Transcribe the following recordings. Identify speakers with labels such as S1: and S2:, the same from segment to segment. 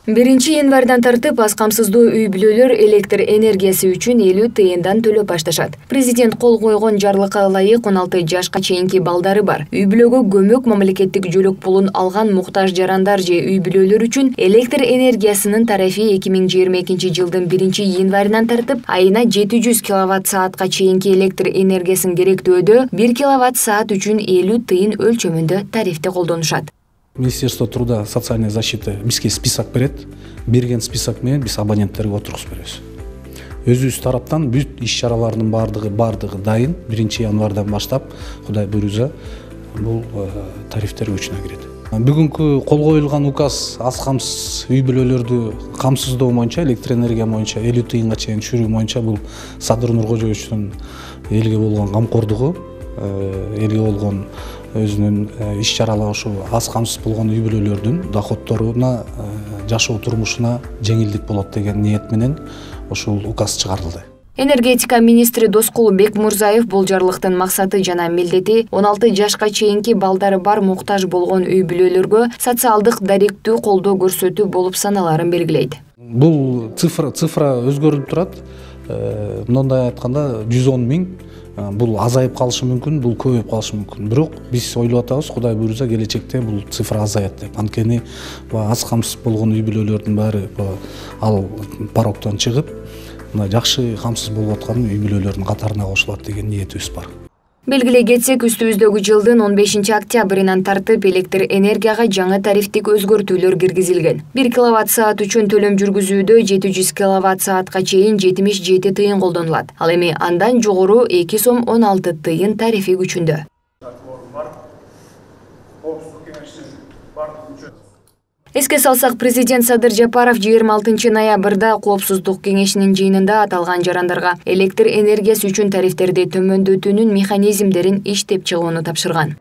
S1: 1-январдан тартып аз камсыздуу үй-бүлөлөр электр энергиясы үчүн 50 тыйындан төлөп башташат. Президент кол койгон жарлыкка ылайык 16 жашка чейинки балдары бар, үй-бүлөгө көмөк мамлекеттик жөлөк пулун алган муктаж жарандар же үй-бүлөлөр үчүн электр энергиясынын тарифи 2022 жылдын 1-январынан тартып айына 700 киловатт-саатка чейинки электр энергиясын керектөөдө 1 киловатт-саат үчүн 50 тыйын өлчөмүндө тарифти колдонушат.
S2: Министерство труда и социальной защиты бизге список берет. Берген список менен биз абоненттерге отургузуп беребиз. Өзүбүз тараптан бүт иш-чаралардын бардыгы дайын. 1-январдан баштап, Кудай буйруза, бул тарифтер күчүнө кирет. Бүгүнкү кол коюлган указ аз камсыз үй-бүлөлөрдү камсыздоо боюнча, электр энергия боюнча 50 тыйынга чейин түшүрүү боюнча бул Садыр Нуркожоевичтин элге болгон камкордугу, элге болгон өзүнүн иш-чаралары ушу аз камсыз болгон үй-бүлөлөрдүн доходторуна, жашоо турмушуна жеңилдик болот деген ниет менен ушул указ чыгарылды.
S1: Энергетика министри Доскул Бекмурзаев бул жарлыктын максаты жана милдети 16 жашка чейинки балдары бар муктаж болгон үй-бүлөлөргө социалдык даректүү колдоо көрсөтүү болуп саналарын белгилейт.
S2: Бул цифра өзгөрүп турат. Мындай айтканда 110 миң. Бул азайып калышы мүмкүн, бул көбөйүп калышы мүмкүн. Бирок биз ойлоп атабыз, Кудай буйруза келечекте бул цифра азаят деп. Анткени аз камсыз болгон үй-бүлөлөрдүн баары ал порогдон чыгып, жакшы камсыз болуп аткан үй-бүлөлөрдүн катарына кошулат деген ниетибиз бар.
S1: Белгилей кетсек, үстүбүздөгү жылдын 15 октябрынан тартып электр энергияга жаңы тарифтик өзгөртүүлөр киргизилген. 1 киловатт-саат үчүн төлөм жүргүзүүдө 700 киловатт-саатка чейин 77 тыйын колдонулат. Ал эми андан жогору 2 сом 16 тыйын тарифи күчүндө. Эске салсак, президент Садыр Жапаров 26 ноябрда Коопсуздук кеңешинин жыйынында аталган жарандарга электр энергиясы үчүн тарифтерди төмөндөтүүнүн механизмдерин иштеп чыгууну тапшырган.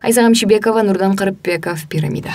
S1: Айза Камшибекова, Нурдан Карыпбеков, Пирамида.